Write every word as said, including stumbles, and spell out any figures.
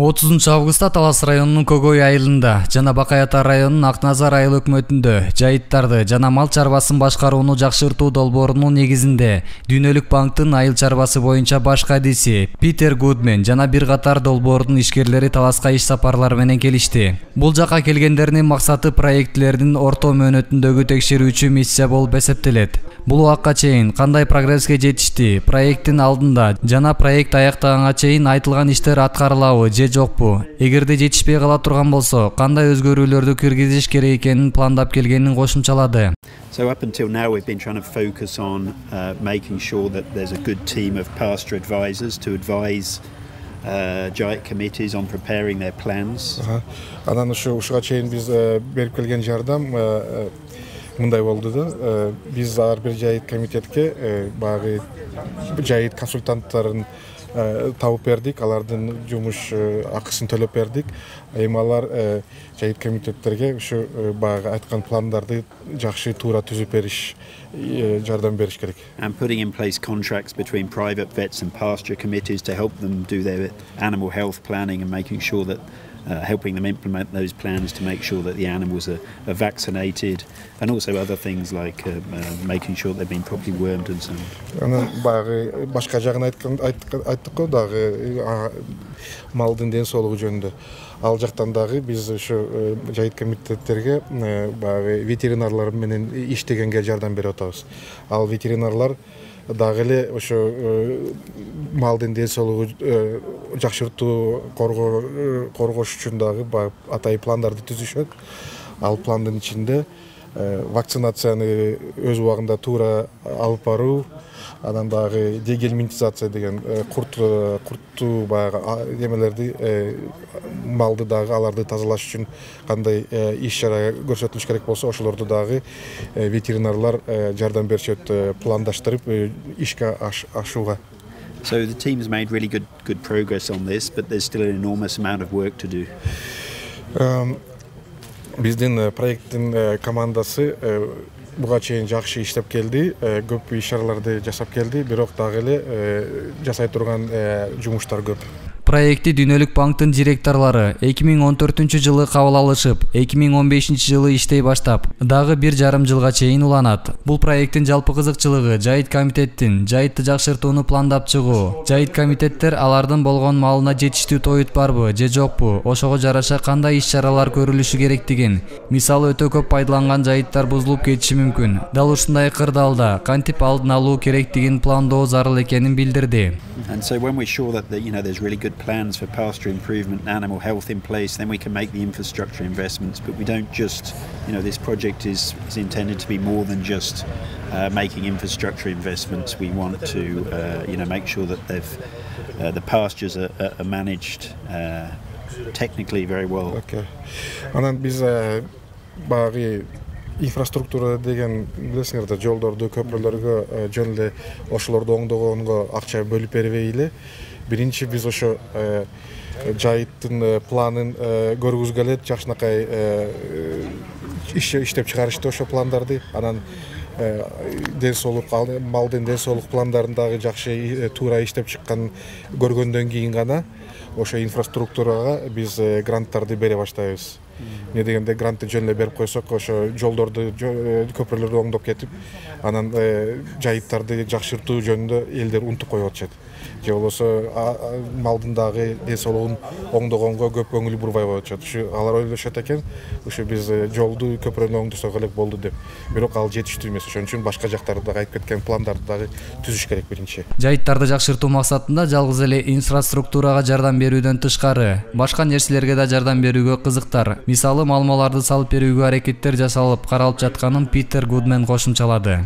отузунчу августта Талас районунун Көгөй айылында жана Бакай Ата районунун Ак Назар айыл өкмөтүндө жайыттарды жана мал чарбасын башкарууну жакшыртуу долбоорунун негизинде Дүйнөлүк банктын айыл чарбасы боюнча баш кадиси Питер Гудмен жана бир катар долбоордун ишкерлери Таласка иш сапарлар менен келишти. Бул жака келгендердин максаты проектлердин орто мөөнөтүндөгү текшерүүчү миссия болуп эсептелет. Бул убакка чейин кандай прогресске жетишти, проекттин алдында жана проект аяктаганга чейин айтылган иштер аткарылабы же жокпу? Эгерде жетишпей кала турган болсо, кандай өзгөрүүлөрдү киргизиш керек экенин пландап келгенин кошумчалады. So up until now we've been trying to focus on uh, making sure that there's a good team of pasture advisors to advise uh, Jayit committees on preparing their plans. Анан ушу ушуга чейин биз берип келген жардам мындай болду да. Биз ар бир Жайыт комитетке багы Жайыт консультанттарын табып бердик, алардын жумуш акысын төлөп бердик. Эми алар Жайыт комитеттерге ушу багы айткан пландарды жакшы туура түзүп бериш, жардам бериш керек. And putting in place contracts between private vets and pasture committees to help them do their animal health planning and making sure that Uh, helping them implement those plans to make sure that the animals are, are vaccinated, and also other things like uh, uh, making sure they've been properly wormed and so on. Анан багы башка жагын айткан айттык го дагы малдын ден соолугу жөнүндө. Ал жактан дагы биз ушу Жайыт комитеттерге багы ветеринарлар менен иштегенге жардам берип атабыз. Ал ветеринарлар дагы эле ошо малдын ден соолугу жакшыртуу коргош үчүн дагы атайын пландарды түзүшөт. Ал пландын ичинде вакцинацияны өз убагында туура алып баруу, анан дагы дегельминтизация деген курт курттуу баягы эмелерди малды дагы аларды тазалаш үчүн кандай иш чара көрсөтүлүш керек болсо ошолорду дагы ветеринарлар жардам беришет, пландаштырып ишке ашууга. So the team's made really good good progress on this, but there's still an enormous amount of work to do. Биздин проекттин командасы буга чейин жакшы иштеп келди, көп иш-чараларды жасап келди, бирок дагы эле жасай турган жумуштар көп. Проекти Дүйнөлүк банктын директорлору эки миң он төртүнчү жылы кабыл алышып, эки миң он бешинчи жылы иштей баштап, дагы бир жарым жылга чейин уланат. Бул проекттин жалпы кызыкчылыгы Жайыт комитеттин жайытты жакшыртууну пландап чыгуу. Жайыт комитеттер алардын болгон малына жетиштүү тоют барбы же жокпу, ошого жараша кандай иш-чаралар көрүлүшү керектигин, мисалы өтө көп пайдаланган жайыттар бузулуп кетиши мүмкүн. Дал ушундай кырдаалда кантип алдын алуу керектигин пландоо зарыл экенин билдирди. And so when we're sure that the, you know there's really good plans for pasture improvement and animal health in place, then we can make the infrastructure investments. But we don't just, you know, this project is, is intended to be more than just uh, making infrastructure investments. We want to, uh, you know, make sure that they've, uh, the pastures are, are managed uh, technically very well. Okay. Анан биз багы инфраструктура деген билесиңер да, жолдорду, көпүрлөргө жөн эле ошолорду оңдогонго акча бөлүп бербей эле. Биринчи биз ошо Жайыттын планын көргүзгөлө жакшынакай иштеп чыгарышты ошо пландарды. Анан ден соолук, малдын ден соолук пландарын дагы жакшы туура иштеп чыккан көргөндөн кийин гана ошо инфраструктурага биз гранттарды бере баштайбыз. Не дегенде грантты жөн эле берип койсок, ошо жолдорду, көпүрлөрдү оңдоп кетип, анан жайыттарды жакшыртуу жөнүндө элдер унутуп коюп атышат. Же болбосо малдын дагы ден соолугун оңдогонго көп көңүл бурбай коюшат. Ушу алар ойлошот экен, ушу биз жолду, көпүрөнү оңдосок эле болду деп. Бирок ал жетиштүү эмес. Ошон үчүн башка жактарды дагы айтып кеткен пландарды дагы түзүш керек биринчи. Жайыттарды жакшыртуу максатында жалгыз эле инфраструктурага жардам берүүдөн тышкары, башка нерселерге да жардам берүүгө кызыктар. Мисалы, малмаларды салып берүүгө аракеттер жасалып каралып жатканын Питер Гудмен кошумчалады.